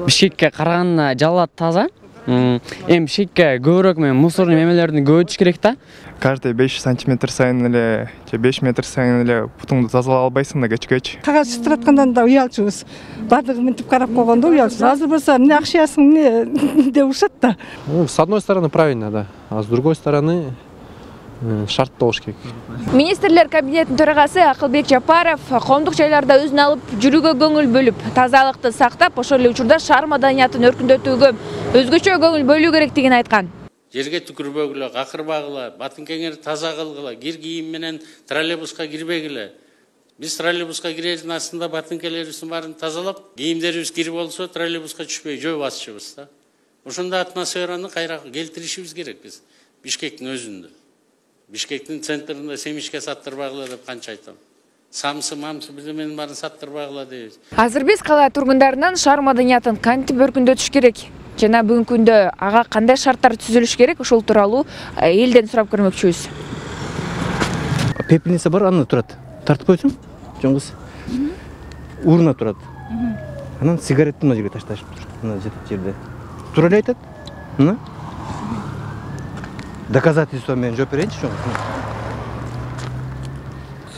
Бишкекке караганда Жалал таза. Эми Бишкекке көбүрөөк мусорный эмелерди көбөйтүш керек да. Каждый 5 сантиметр сайын эле же 5 метр сайын эле бутуңду тазалап албайсың да кечкечи. Кагаз чытыраткандан да уялчубуз. Бардыгы мынтип карап койгондо уялчубуз. Азыр болсо эмне акчаясың эмне деп урушат да. С одной стороны правильно, да, а с другой стороны шарт болуш керек. Министрлер кабинетинин төрагасы Акылбек Жапаров коомдук жайларда өзүн алып жүрүүгө көңүл бөлүп, тазалыкты сактап, ошол эле учурда шаар маданиятын өркүндөтүүгө өзгөчө көңүл бөлүү керектигин айткан. Жерге түкүрбөгүлө, какырбагыла, батын кеңери таза кылгыла, кир кийим менен троллейбуска кирбегиле. Биз троллейбуска кирердин астында батынкелерибиздин баарын тазалап, кийимдерибиз кирип болсо троллейбуска түшпөй жөө басчыбыз да. Ошондой атмосфераны кайра келтиришибиз керек биз Бишкектин өзүндө. Бишкектин центринде семишке саттырбагыла деп канча айтам. Самсы бирдеменин баарын саттырбагыла дейбиз. Азыр биз кала тургундарынан шаар маданиятын кантип өркүндөтүш керек жана бүгүнкү күндө ага кандай шарттар түзүлүш керек, ошол тууралуу элден сурап көрмөкчүбүз. Пепельница бар, аны турат. Тартып койсоң, жоңгуз. Урна турат. Анан сигаретти мына жерге ташташып тур. Мына жерде. Тура эле айтат. Мына. Доказательство менен жооп берейинчи, жоңгуз.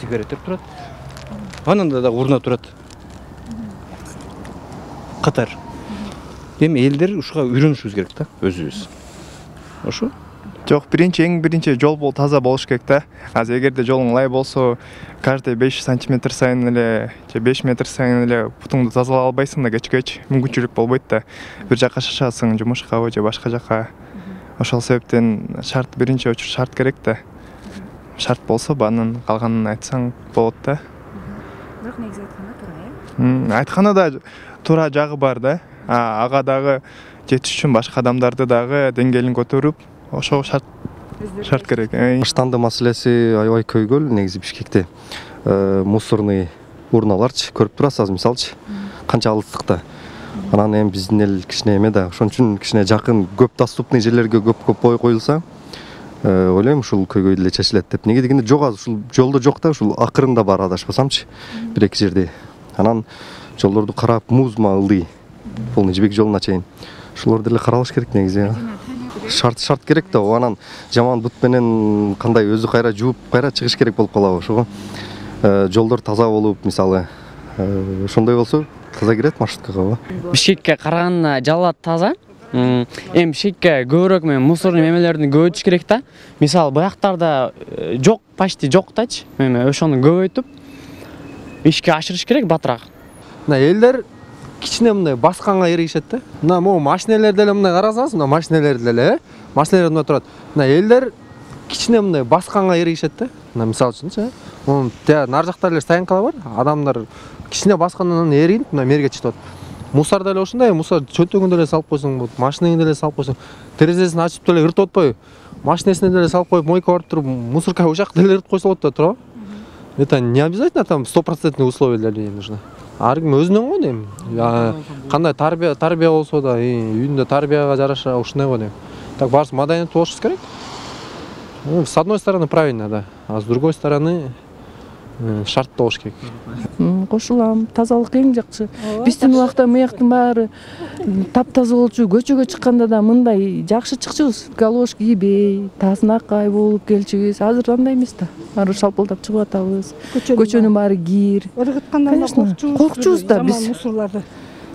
Сигареттер турат. Анан да урна турат. Катар. Эми элдер ушуга үйрөнүшүбүз керек да, өзүбүз. Ошо? Жок, эң биринчи жол таза болуш керек да. Азыр эгерде жолуң лай болсо, каждый 5 сантиметр сайын эле же 5 метр сайын эле бутуңду тазалап албайсың да кечкечи. Мүмкүнчүлүк болбойт да. Бир жакка шашасың, жумушка же башка жакка. Ошол себептен биринчи очур шарт керек да. Шарт болсо, анын калганын айтсаң болот да. Бирок негизи айтканда туура, Айтканда да туура жагы бар да. Ага дагы жетиш үчүн башка адамдарды дагы деңгээлин көтөрүп, ошого шарт керек. Баштанды маселеси аябай көйгөл негизи Бишкекте. Мусорный урналарчы көрүп турасыз, азыр мисалчы, канча алыстыкта. Анан эми биздин эл кичине эме да, ошон үчүн кичине жакын, көп доступный жерлерге көп коюлса, ойлойм ушул көйгөй деле чечилет деп. Неге дегенде жок, азыр ушул жолдо жок да, ушул акырында бар адашпасамчы, бир-эки жерде. Анан жолдорду карап, музма, ылдый, полный жибек жолуна чейин. Ушулар деле каралыш керек негизи. Шарт керек да, анан жаман бут менен кандай өзү кайра жууп, кайра чыгыш керек болуп калабы. Ошого жолдор таза болуп, мисалы, ошондой болсо таза кирет маршруткага. Бишкекке караганда Жалал таза. Эми Бишкекке көбүрөөк мусорный эмелерди көбөйтүш керек да. Мисалы, буяктарда жок, почти жок дачы. Ошону көбөйтүп ишке ашырыш керек батыраак. Мына элдер кичине мындай басканга эрегишет да. Мына могу машинелер деле мындай карасаңыз, мына машинелер деле, машинелер мында турат. Мына элдер кичине мындай басканга эрегишет да. Мына мисалы үчүнчү, мунун нар жакта эле стоянкалар бар. Адамдар кичине баскандан эригип, мына мерге чыгып атат. Мусор деле ошондой, мусор чөнтөгүн деле салып койсоң болот, машинеңди деле салып койсоң, терезесин ачып деле ыртып атпайбы? Машинесине деле салып коюп, мойка барып туруп, мусорка ошак деле ыртып койсо болот да, туурабы? Это не обязательно там 100% условия для людей нужно. Ар ким өзүнөн го дейм. Кандай тарбия болсо да, үйүндө тарбияга жараша ушундай го дейм. Так баарысы маданият болуш керек. С одной стороны правильно, да, а с другой стороны шарт болуш керек. Кошулам, тазалык эң жакшы. Биздин убакта мыяктын баары таптаза болчу, көчөгө чыкканда да мындай жакшы чыкчубуз. Галош кийбей, таасынакай болуп келчүбүз. Азыр андай эмес да. Баары шалпылдап чыгып атабыз. Көчөнүн баары кир. Ыргыткандан коркчубуз да биз мусорларды.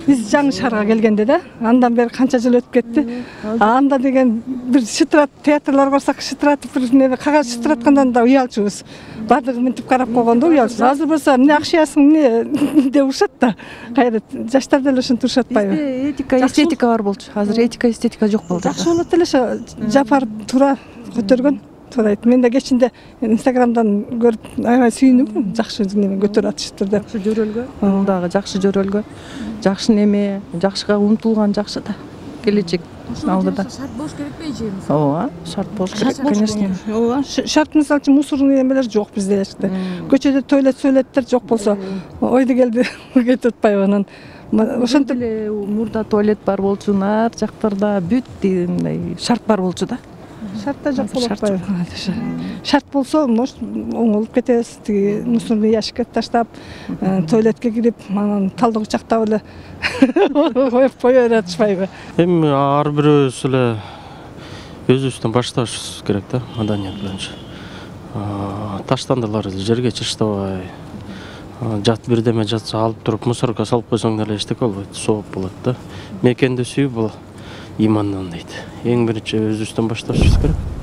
Биз жаңы шаарга келгенде да, андан бери канча жыл өтүп кетти. Анда деген бир шытырат театрлар барсак, шытыратып бир неме кагаз шытыраткандан да уялчубуз. Бардыгы мынтип карап койгондо уялчубуз. Азыр болсо эмне акчаясың эмне деп урушат да. Кайра жаштар деле ошентип урушат атпайбы? Этика, эстетика бар болчу. Азыр этика, эстетика жок болду. Жакшы болот эле ошо Жапар туура көтөргөн. Мен да кечинде Инстаграмдан көрүп аябай сүйүнүп, жакшы неме көтөрүп атышыптыр деп. Жакшы жөрөлгө, ал дагы жакшы жөрөлгө, жакшы неме, жакшыга умтулган жакшы да. Келечек алдыда. Шарт болуш керекпи? Ооба, шарт болуш керек, конечно. Ооба, шарт мисалы үчүн мусорный эмелер жок bizde эчките. Көчөдө туалеттер жок болсо, ойду келди кетип атпайбы анан. Ошентип эле мурда туалет бар болчу, нар жактарда бүт мындай шарт бар болчу да. Шартта жок болуп атпайбы? Шарт болсо, может, оңолуп кетебиз. Тиги мусорный ящикке таштап, туалетке кирип, анан талдык жактап эле коюп кое беришпайбы? Эми ар бирөөбүз эле өзүбүздөн башташыбыз керек да, маданият боюнча. Таштандылар жерге чачтабай, жат бирдеме жатса алып туруп мусорго салып койсоң деле эчтеке болбойт, сооп болот да. Мекенди сүйүү бул имандан дейт. Эң биринчи өзүбүздөн башташыбыз керек.